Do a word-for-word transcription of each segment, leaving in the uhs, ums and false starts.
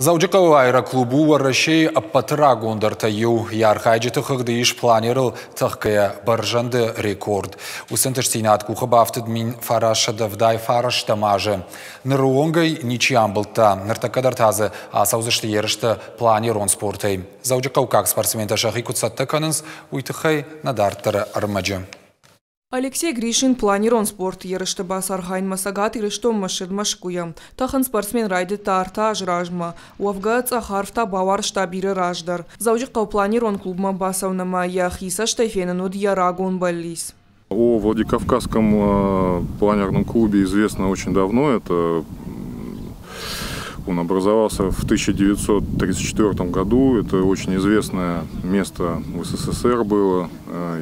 Дзӕуджыхъӕуы аэроклуб у Уӕрӕсейы ӕппӕты рагондӕртӕй иу. Йӕ архайджыты хыгъды ис планерыл тӕхгӕйӕ бӕрзӕнды рекорд. Уыцы ӕнтыстдзинад къухы бафтыд мин фарастсӕдӕ ӕвдай фарӕстӕм азы. Ныры онг ӕй ничи амбылдта. Ныртӕккӕ дӕр та дзы ацӕудзысты ерыстӕ планерон спортӕй. Дзӕуджыхъӕуккаг спортсментӕ сӕхи куыд цӕттӕ кӕнынц, уый тыххӕй нӕ дарддӕры ӕрмӕджы. Алексей Гришин планерон спорты ерысты бацархайынмӕ Цӕгат Ирыстонмӕ ссыд Мӕскуыйӕ. Тӕхын спортсмен райдыдта ӕртӕ азы размӕ. Уӕвгӕ цъӕх арв та бауарзта бирӕ раздӕр. Дзӕуджыхъӕуы планерон клубмӕ бацӕуын ӕмӕ йӕхи цӕстӕй фенын уыд йӕ рагон бӕллиц. О Владикавказском планерном клубе известно очень давно. Это он образовался в тысяча девятьсот тридцать четвёртом году. Это очень известное место в СССР было.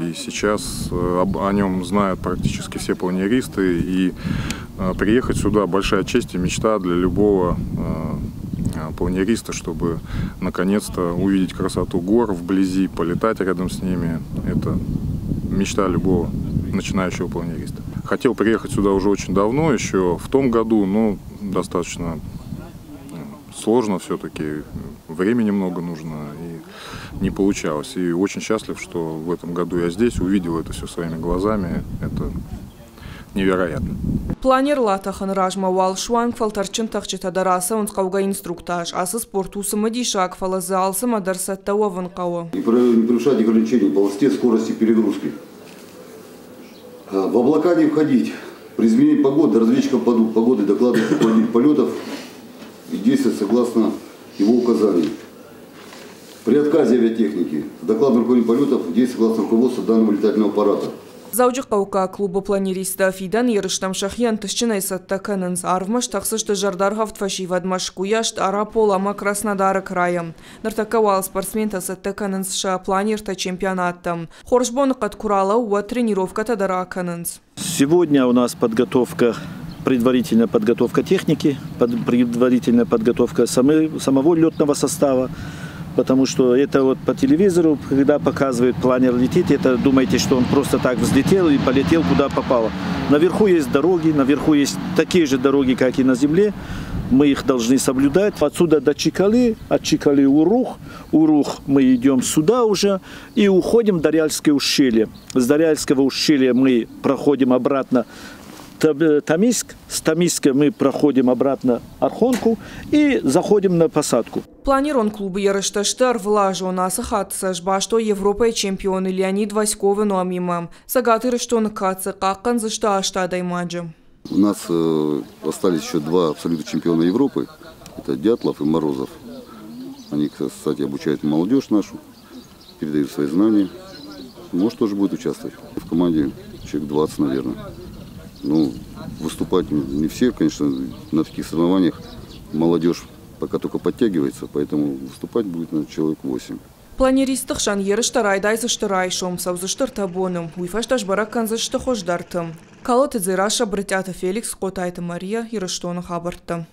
И сейчас о нем знают практически все планеристы. И приехать сюда большая честь и мечта для любого планериста, чтобы наконец-то увидеть красоту гор вблизи, полетать рядом с ними. Это мечта любого начинающего планериста. Хотел приехать сюда уже очень давно, еще в том году, но достаточно сложно все-таки, времени много нужно, и не получалось. И очень счастлив, что в этом году я здесь, увидел это все своими глазами. Это невероятно. Планерыл атӕхыны размӕ уал суанг фӕлтӕрдджын тӕхджытӕ дӕр ацӕуынц хъӕугӕ инструктаж. Ацы спорт у цымыдисаг, фӕлӕ дзы алцӕмӕ дӕр цӕттӕ уӕвын хъӕуы. Не превышать ограничений по высоте, скорости перегрузки. В облака не входить. При изменении погоды разведчикам погоды докладывать руководитель полетов и действовать согласно его указаний. При отказе авиатехники с докладом руководителя полетов действовать согласно руководства данного летательного аппарата. Дзӕуджыхъӕуккаг клубы планеристтӕ фидӕн ерыстӕм сӕхи ӕнтыстджынӕй цӕттӕ кӕнынц. Арвмӕ стӕхдзысты зӕрдӕргъӕвд фӕсивӕд Мӕскуыйӕ, Стъарапол ӕмӕ Краснодары крайӕ. Ныртӕккӕ уал спортсментӕ цӕттӕ кӕнынц сӕ планертӕ чемпионаттӕм. Хорз боныхъӕд куы ралӕууы, уӕд тренировкӕтӕ дӕр акӕнынц. Сегодня у нас подготовка, предварительная подготовка техники, предварительная подготовка самого летного состава. Потому что это вот по телевизору, когда показывают, планер летит, это думаете, что он просто так взлетел и полетел куда попало. Наверху есть дороги, наверху есть такие же дороги, как и на земле. Мы их должны соблюдать. Отсюда до Чикалы, от Чикалы Урух, Урух мы идем сюда уже и уходим в Дарьяльское ущелье. С Дарьяльского ущелья мы проходим обратно Тамиск, с Тамиска мы проходим обратно Архонку и заходим на посадку. Планерон клубы ерыстӕ сты ӕрвылазон. Ацы хатт сӕ сбастой Европӕйы чемпион Леонид Васьковы номимӕ. Цӕгат Ирыстоны кад дзы хъахъхъӕндзысты аст адӕймаджы. У нас остались еще два абсолютных чемпиона Европы. Это Дятлов и Морозов. Они, кстати, обучают молодежь нашу, передают свои знания. Может, тоже будет участвовать. В команде человек двадцать, наверное. Ну, выступать не все, конечно, на таких соревнованиях молодежь пока только подтягивается, поэтому выступать будет на человек восемь. Планеристты хсӕн ерыстӕ райдайдзысты райсом, цӕудзысты ӕртӕ боны. Уый фӕстӕ сбӕрӕг кӕндзысты хуыздӕрты. Калоты Дзерассӕ, Брытъиаты Феликс, Хъотайты Мария, Ирыстоны хабӕрттӕ.